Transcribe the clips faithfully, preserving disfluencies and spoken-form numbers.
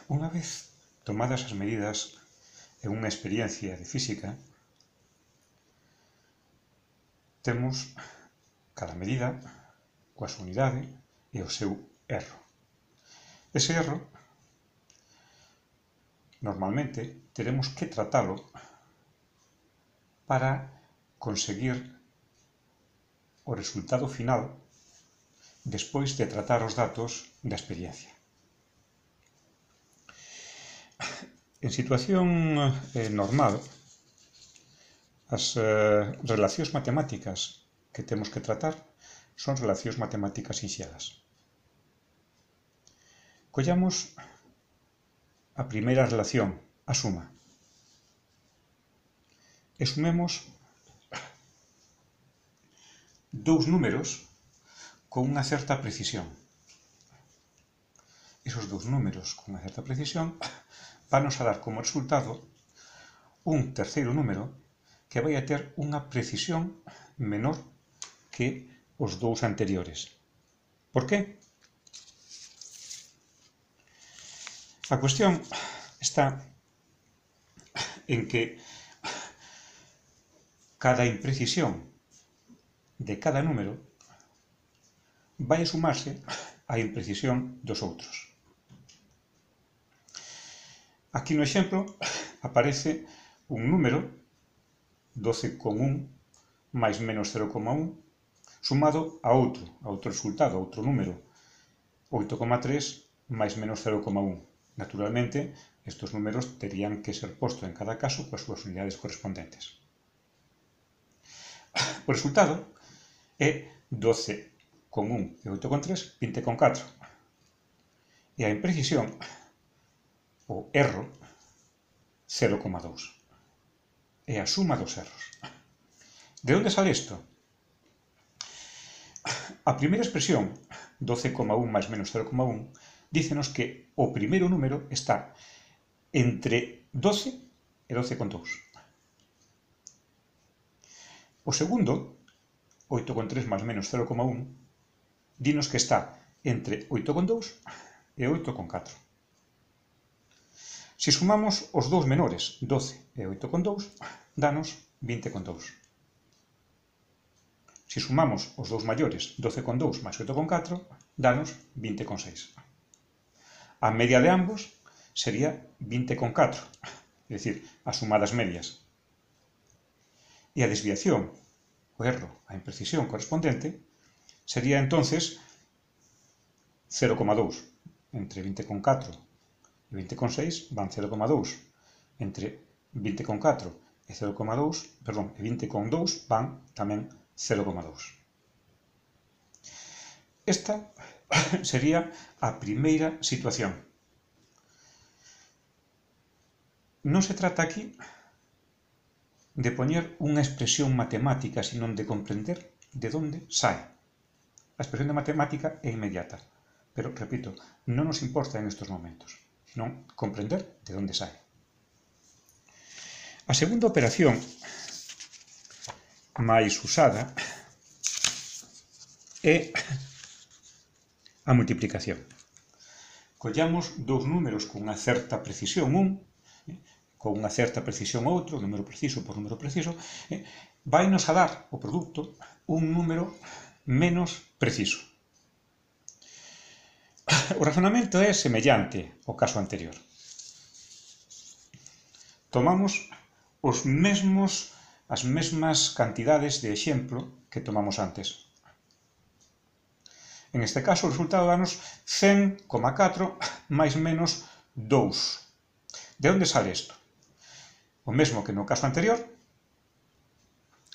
Unha vez tomadas as medidas en unha experiencia de física, temos cada medida coa súa unidade e o seu erro. Ese erro, normalmente, teremos que tratalo para conseguir o resultado final despois de tratar os datos da experiencia. En situación eh, normal, as eh, relacións matemáticas que temos que tratar son relacións matemáticas sinxelas. Collamos a primeira relación, a suma, e sumemos dous números con unha certa precisión. Esos dous números con unha certa precisión vanos a dar como resultado un terceiro número que vai a ter unha precisión menor que os dous anteriores. Por qué? A cuestión está en que cada imprecisión de cada número vai a sumarse á imprecisión dos outros. Aquí no exemplo aparece un número, doce coma un máis menos cero coma un, sumado a outro, a outro resultado, a outro número, oito coma tres máis menos cero coma un. Naturalmente, estes números terían que ser postos en cada caso coas súas unidades correspondentes. O resultado é doce coma un e oito coma tres, vinte coma catro. E a imprecisión, o erro, cero coma dous. É a suma dos erros. De onde sale isto? A primeira expresión, doce coma un máis menos cero coma un, dícenos que o primeiro número está entre doce e doce coma dous. O segundo, oito coma tres máis menos cero coma un, dinos que está entre oito coma dous e oito coma catro. Se sumamos os dous menores, doce e oito coma dous, danos vinte coma dous. Se sumamos os dous maiores, doce coma dous máis oito coma catro, danos vinte coma seis. A media de ambos sería vinte coma catro, é dicir, a suma das medias. E a desviación, o erro, a imprecisión correspondente, sería entonces cero coma dous. Entre vinte coma catro e vinte coma seis van cero coma dous. Entre vinte coma catro e cero coma dous, perdón, e vinte coma dous van tamén cero coma dous. Esta sería a primeira situación. Non se trata aquí de poñer unha expresión matemática, sino de comprender de onde sae. A expresión de matemática é inmediata, pero, repito, non nos importa en estes momentos, sino comprender de onde sae. A segunda operación máis usada é a multiplicación. Collamos dous números con unha certa precisión, un, con unha certa precisión outro, número preciso por número preciso, vai nos a dar o produto un número menos preciso. O razonamento é semellante ao caso anterior. Tomamos os mesmos, as mesmas cantidades de exemplo que tomamos antes. En este caso, o resultado danos cen coma catro máis menos dous. De onde sale isto? O mesmo que no caso anterior,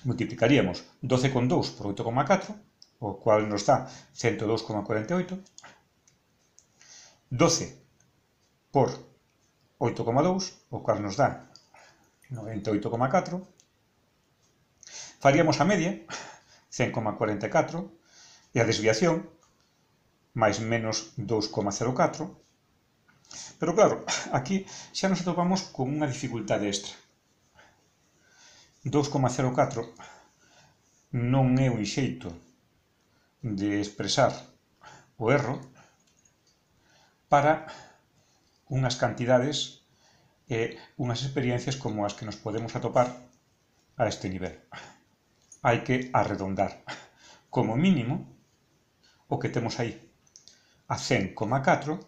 multiplicaríamos doce coma dous por oito coma catro, o cual nos dá cento dous coma cuarenta e oito. doce por oito coma dous, o cual nos dá noventa e oito coma catro. Faríamos a media, cen coma cuarenta e catro, e a desviación, máis menos dous coma cero catro. Pero claro, aquí xa nos atopamos con unha dificultade extra. dous coma cero catro non é un xeito de expresar o erro para unhas cantidades e unhas experiencias como as que nos podemos atopar a este nivel. Hai que arredondar como mínimo o que temos aí a cen coma catro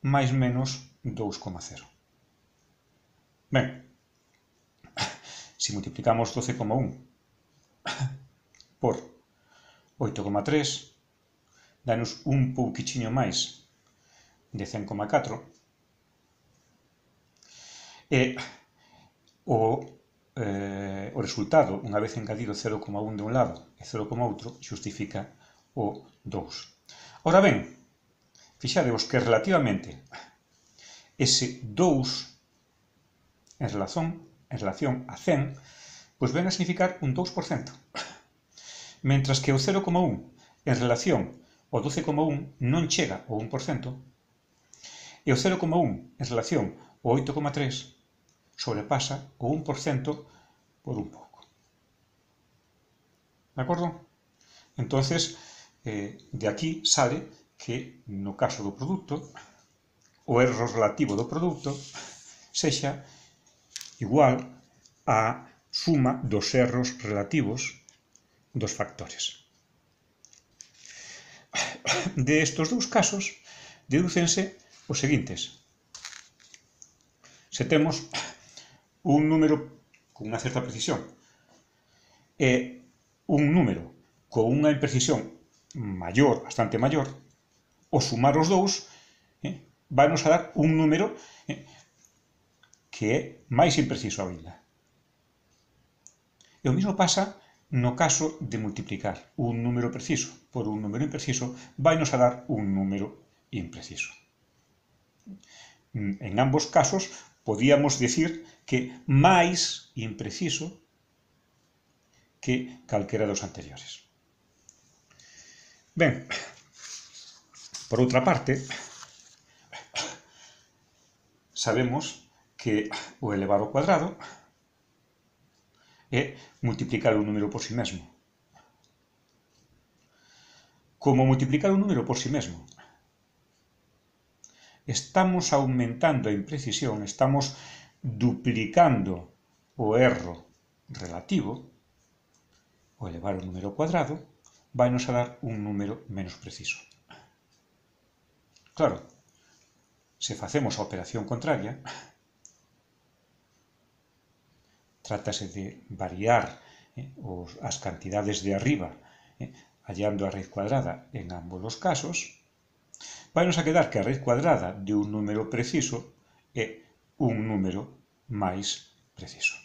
máis menos dous coma cero. Ben, se multiplicamos doce coma un por oito coma tres, danos un pouquichiño máis de cen coma catro, e o, eh, o resultado, unha vez engadido cero coma un de un lado e cero coma outro, xustifica o dous. Ora ben, fixadevos que relativamente ese dous en relación, en relación a cen, pois ven a significar un dous por cento. Mentras que o cero coma un en relación ao doce coma un non chega ao un por cento, e o cero coma un en relación ao oito coma tres sobrepasa o un por cento por un pouco. De acordo? Entonces, eh, de aquí sale que no caso do produto, o erro relativo do produto sexa igual á suma dos erros relativos dos factores. De estos dous casos, dedúcense os seguintes. Se temos un número con unha certa precisión e un número con unha imprecisión maior, bastante maior, o sumar os dous eh, vai nos a dar un número eh, que é máis impreciso ainda. E o mesmo pasa no caso de multiplicar un número preciso por un número impreciso, vai nos a dar un número impreciso. En ambos casos, podíamos decir que máis impreciso que calquera dos anteriores. Ben, por outra parte, sabemos que o elevar ao cuadrado é multiplicar un número por si mesmo. Como multiplicar un número por si mesmo, estamos aumentando a imprecisión, estamos duplicando o erro relativo, o elevar o número ao cuadrado vai nos a dar un número menos preciso. Claro, se facemos a operación contraria, trátase de variar eh, os, as cantidades de arriba eh, hallando a raíz cuadrada en ambos os casos, vai nos a quedar que a raíz cuadrada de un número preciso é un número máis preciso.